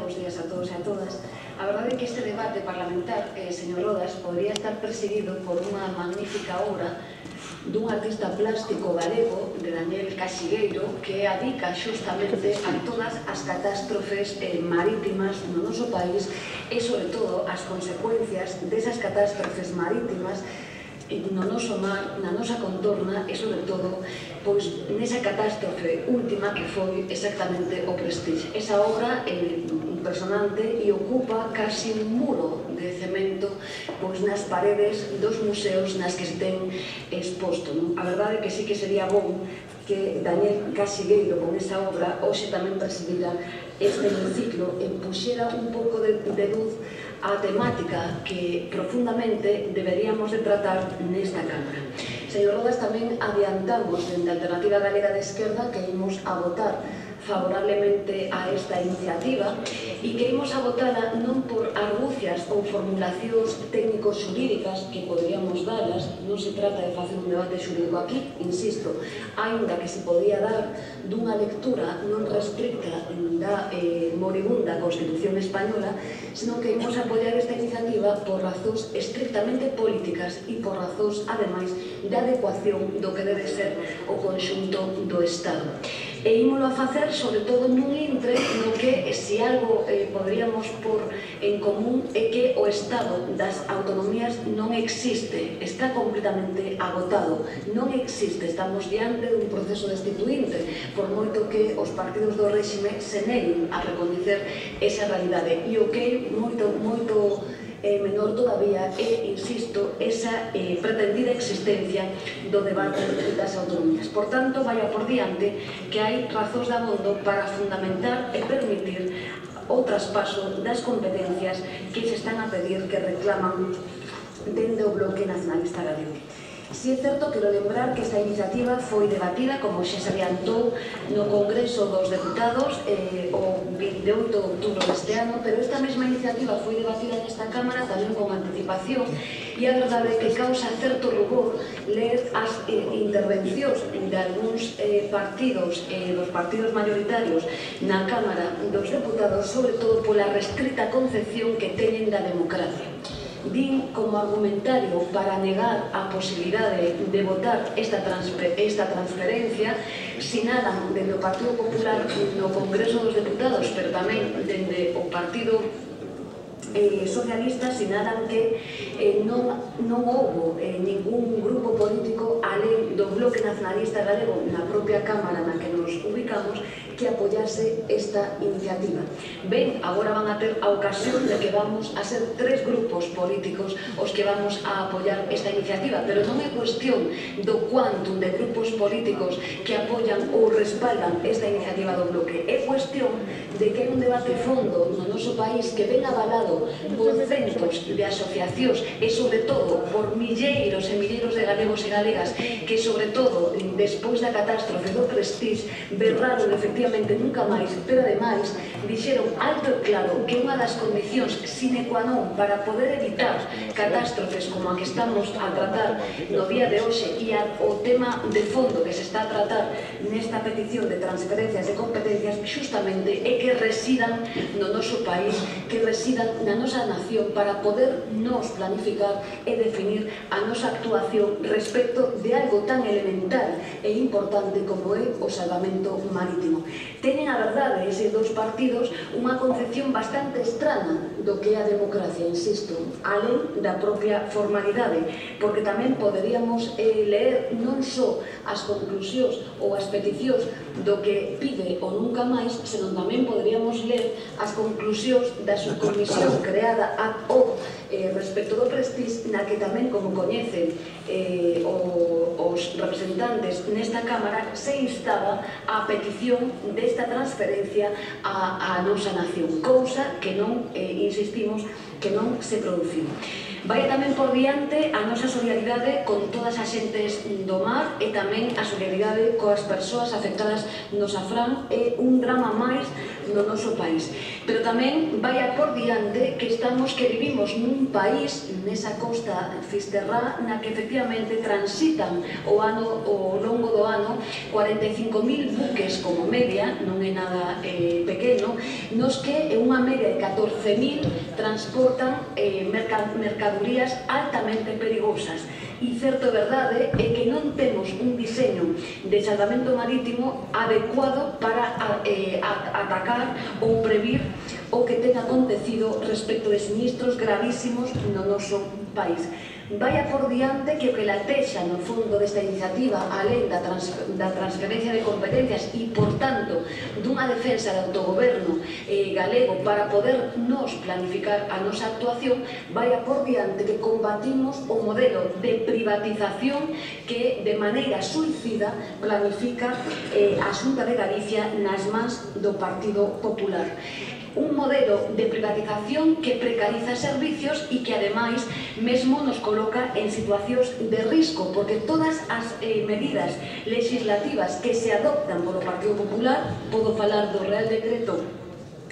bons días a todos e a todas. A verdade é que este debate parlamentar, señor Rodas, podría estar presidido por unha magnífica obra dun artista plástico galego, de Daniel Casigueiro, que adica xustamente a todas as catástrofes marítimas no noso país e, sobre todo, as consecuencias desas catástrofes marítimas no noso mar, na nosa contorna e, sobre todo, pois nesa catástrofe última que foi exactamente o Prestige. Esa obra é impresionante e ocupa casi un muro de cemento pois nas paredes dos museos nas que se ten exposto. A verdade é que sí que sería bom que Daniel Casigueiro, con esa obra, hoxe tamén presidira este hemiciclo e puxera un pouco de luz a temática que profundamente deberíamos de tratar nesta Cámara. Señor Rodas, tamén adiantamos dende a Alternativa Galega de Esquerda que imos a votar favorablemente a esta iniciativa e que imos a votala non por argucias ou formulacións técnico-xurídicas que poderíamos dalas, non se trata de facer un debate xurídico aquí, insisto, aínda que se podía dar dunha lectura non restricta da moribunda Constitución Española, senón que imos a apoiar esta iniciativa por razóns estrictamente políticas e por razóns, ademais, de adecuación do que debe ser o conxunto do Estado. E ímolo a facer, sobre todo, nun intre no que, se algo poderíamos pôr en común, é que o Estado das autonomías non existe, está completamente agotado, non existe, estamos diante dun proceso destituinte, por moito que os partidos do réxime se neguen a recoñecer esa realidade. E o que é moito menor todavía é, insisto, esa pretendida existencia do debate das autonomías. Por tanto, vaya por diante que hai razóns de abondo para fundamentar e permitir o traspaso das competencias que se están a pedir, que reclaman dende o Bloque Nacionalista Galego. Si é certo, quero lembrar que esta iniciativa foi debatida, como xa se adiantou, no Congreso dos Deputados o 28 de outubro deste ano, pero esta mesma iniciativa foi debatida nesta Cámara tamén con anticipación e a verdade é que causa certo rubor ler as intervencións de algúns partidos, dos partidos mayoritarios na Cámara dos Deputados, sobre todo pola restrita concepción que teñen da democracia. Din como argumentario para negar a posibilidade de votar esta transferencia, sinalan dende o Partido Popular no Congreso dos Deputados, pero tamén dende o Partido Socialista, sinalan que non houbo ningún grupo político alén do Bloque Nacionalista Galego na propia Cámara na que nos ubicamos que apoyase esta iniciativa. Ben, agora van a ter a ocasión de que vamos a ser 3 grupos políticos os que vamos a apoiar esta iniciativa, pero non é cuestión do quantum de grupos políticos que apoian ou respaldan esta iniciativa do Bloque, é cuestión de que hai un debate fondo no noso país que ven avalado por centos de asociacións e, sobre todo, por milleiros e milleiros de galegos e galegas que, sobre todo, despois da catástrofe do Prestige, berraron efectivamente nunca máis, pero ademais dixeron alto e claro que unha das condicións sine qua non para poder evitar catástrofes como a que estamos a tratar no día de hoxe e o tema de fondo que se está a tratar nesta petición de transferencias de competencias justamente é que residan no noso país, que residan na nosa nación para poder nos planificar e definir a nosa actuación respecto de algo tan elemental e importante como é o salvamento marítimo. Teñen, a verdade, eses dous partidos unha concepción bastante estrana do que é a democracia, insisto, alén da propia formalidade, porque tamén poderíamos ler non só as conclusións ou as peticións do que pide o nunca máis, senón tamén poderíamos ler as conclusións da subcomisión creada ad hoc respecto do Prestige, na que tamén, como coñecen os representantes nesta Cámara, se instaba a petición desta transferencia á nosa nación, cousa que non, insistimos, que non se produciu. Vai tamén por diante a nosa solidaridade con todas as xentes do mar e tamén a solidaridade coas persoas afectadas no Safrán. É un drama máis no noso país. Pero tamén vai a por diante que vivimos nun país, nesa costa fisterrá, na que efectivamente transitan ao longo do ano 45.000 buques como media, non é nada pequeno, nos que unha media de 14.000 transportan mercadorías altamente perigosas. E certo verdade é que non temos un diseño de salvamento marítimo adecuado para atacar ou previr o que ten acontecido respecto de sinistros gravísimos no noso país. Vai a por diante que o que latexa no fondo desta iniciativa, alén da transferencia de competencias e, por tanto, dunha defensa de autogoberno galego para poder nos planificar a nosa actuación, vai a por diante que combatimos o modelo de privatización que de maneira suicida planifica a Xunta de Galicia nas mans do Partido Popular. Un modelo de privatización que precariza servicios e que, ademais, mesmo nos coloca en situacións de risco, porque todas as medidas legislativas que se adoptan polo Partido Popular, podo falar do Real Decreto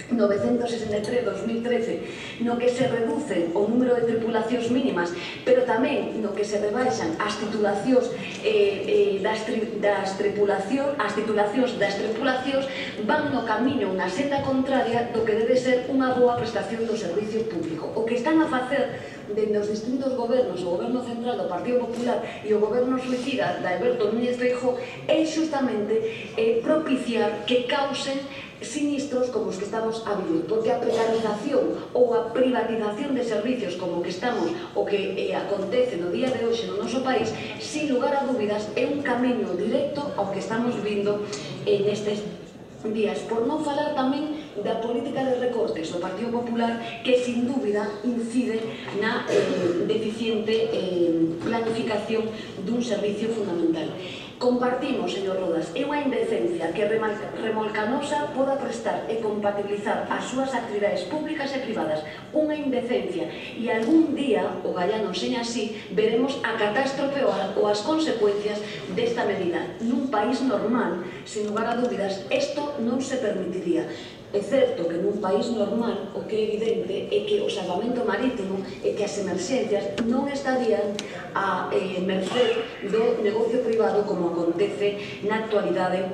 963/2013, no que se reduce o número de tripulacións mínimas, pero tamén no que se rebaixan as titulacións das tripulacións, van no camiño, na senda contraria do que debe ser unha boa prestación do servicio público. O que están a facer dende os distintos gobernos, o goberno central do Partido Popular e o goberno suicida de Alberto Núñez Feijóo, é xustamente propiciar que causen sinistros como os que estamos a vivir, porque a precarización ou a privatización de servicios como que estamos, o que acontece no día de hoxe no noso país, sin lugar a dúbidas, é un camiño directo ao que estamos vindo nestes días, por non falar tamén da política de recortes do Partido Popular, que sin dúbida incide na deficiente planificación dun servicio fundamental. Compartimos, señor Rodas, é unha indecencia que Remolcanosa poda prestar e compatibilizar as súas actividades públicas e privadas. Unha indecencia, e algún día, o Gallano enseña así, veremos a catástrofe ou as consecuencias desta medida. Nun país normal, sin lugar a dúbidas, isto non se permitiría. É certo que nun país normal o que é evidente é que o salvamento marítimo e que as emerxencias non estarían a merced do negocio privado como acontece na actualidade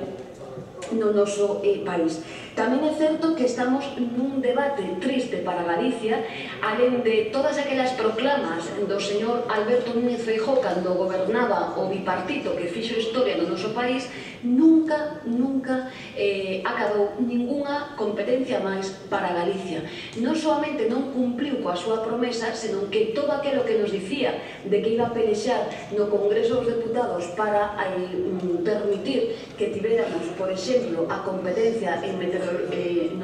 no noso país. Tamén é certo que estamos nun debate triste para Galicia, alén de todas aquelas proclamas do señor Alberto Núñez Feijóo cando gobernaba o bipartito que fixo historia no noso país, nunca acabou ningunha competencia máis para Galicia. Non solamente non cumpliu coa súa promesa, senón que todo aquilo que nos dicía de que iba a pelexar no Congreso dos Deputados para permitir que tiveramos, por exemplo, a competencia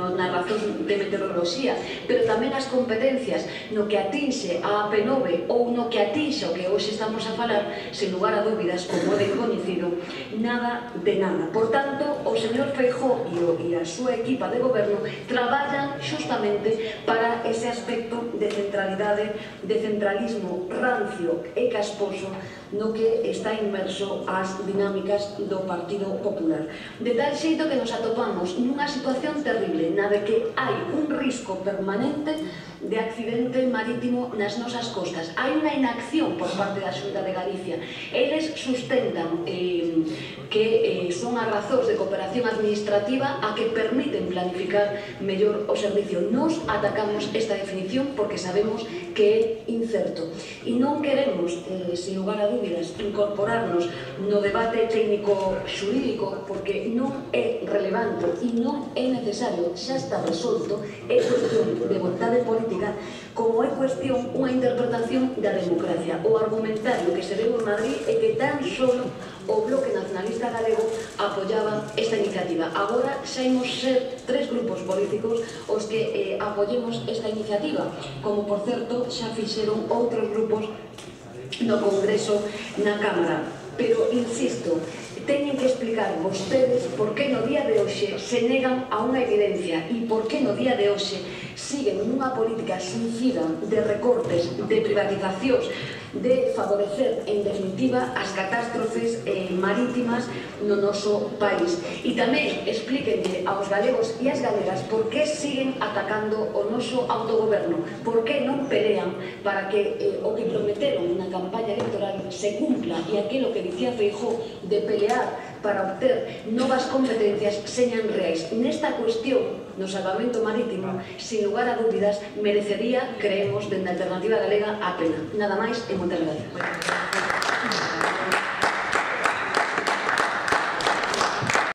na razón de meteoroloxía, pero tamén as competencias no que atinxe a AP9 ou no que atinxe o que hoxe estamos a falar, sen lugar a dúbidas, como é coñecido, nada de nada. Por tanto, o señor Feijóo e a súa equipa de goberno traballan xustamente para ese aspecto de centralidade, de centralismo rancio e casposo no que está inmerso as dinámicas do Partido Popular. De tal xeito que nos atopamos nunha situación terrible na de que hai un risco permanente de accidente marítimo nas nosas costas. Hai unha inacción por parte da Xunta de Galicia. Eles sustentan que son as razóns de cooperación administrativa a que permiten planificar mellor o servicio. Nos atacamos esta definición porque sabemos que é incerto. E non queremos, sin lugar a dúbidas, incorporarnos no debate técnico-xurídico porque non é relevante e non é necesario, xa está resolto, é cuestión de vontade política, como é cuestión unha interpretación da democracia. O argumentario que se deu en Madrid é que tan solo o Bloque Nacionalista Galego apoyaba esta iniciativa. Agora xa imos ser 3 grupos políticos os que apoyemos esta iniciativa, como por certo xa fixeron outros grupos no Congreso, na Cámara. Pero, insisto, teñen que explicar vostedes por que no día de hoxe se negan a unha evidencia e por que no día de hoxe siguen nunha política suicida de recortes, de privatizacións, de favorecer, en definitiva, as catástrofes marítimas no noso país. E tamén explíquenlle aos galegos e as galegas por que siguen atacando o noso autogoberno, por que non pelean para que o que prometeron na campaña electoral se cumpla e aquilo que dicía Feijóo de pelear para obter novas competencias señan reais. Nesta cuestión, no salvamento marítimo, sin lugar a dúbidas, merecería, creemos, dende a Alternativa Galega, a pena. Nada máis e moitas gracias.